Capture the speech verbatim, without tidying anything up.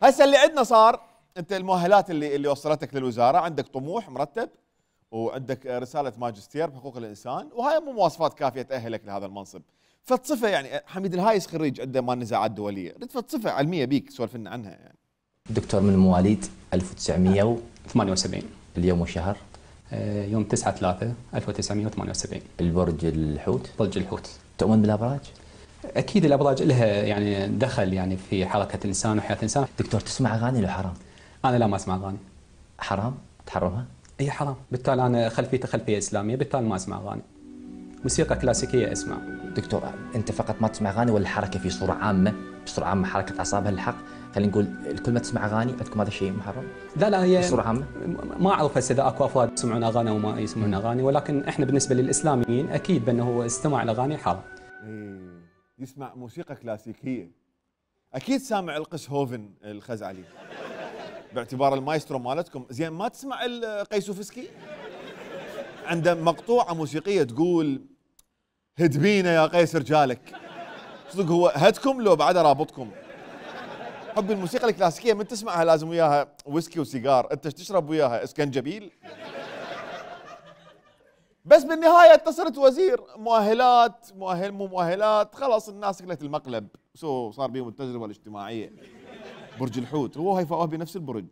هسه اللي عندنا صار، انت المؤهلات اللي اللي وصلتك للوزاره، عندك طموح مرتب وعندك رساله ماجستير بحقوق الانسان، وهاي مو مواصفات كافيه تاهلك لهذا المنصب. فتصفه يعني حميد الهايس خريج عنده مال نزاعات دوليه، اريد فتصفه علميه بيك سولف لنا عنها يعني. دكتور من مواليد ألف وتسعمئة وثمانية وسبعين. اليوم وشهر؟ يوم تسعة ثلاثة ألف وتسعمئة وثمانية وسبعين. البرج الحوت؟ برج الحوت. تؤمن بالابراج؟ اكيد الابراج لها يعني دخل يعني في حركه الانسان وحياه الانسان. دكتور تسمع اغاني لو حرام؟ انا لا ما اسمع اغاني. حرام؟ تحرمها؟ اي حرام، بالتالي انا خلفيتي خلفيه اسلاميه، بالتالي ما اسمع اغاني. موسيقى كلاسيكيه اسمع. دكتور انت فقط ما تسمع اغاني ولا الحركه في صوره عامه، بصوره عامه حركه اعصابها الحق، خلينا نقول الكل ما تسمع اغاني، عندكم هذا الشيء محرم؟ لا لا هي بصوره عامه ما اعرف هسه اذا اكو افراد يسمعون اغاني او ما يسمعون اغاني، ولكن احنا بالنسبه للاسلاميين اكيد بانه هو استماع الاغاني حرام. إيه يسمع موسيقى كلاسيكيه، اكيد سامع القس هوفن الخزعلي باعتبار المايسترو مالتكم، زين ما تسمع القيسوفسكي؟ عنده مقطوعه موسيقيه تقول هد بينا يا قيس رجالك. صدق هو هدكم لو بعد رابطكم؟ حب الموسيقى الكلاسيكيه من تسمعها لازم وياها ويسكي وسيجار، انت تشرب وياها اسكنجبيل؟ بس بالنهايه انت صرت وزير، مؤهلات مؤهل مو مؤهلات خلاص الناس كلت المقلب، سو صار بيهم التجربه الاجتماعيه. برج الحوت هو هيفاء وهبي نفس البرج.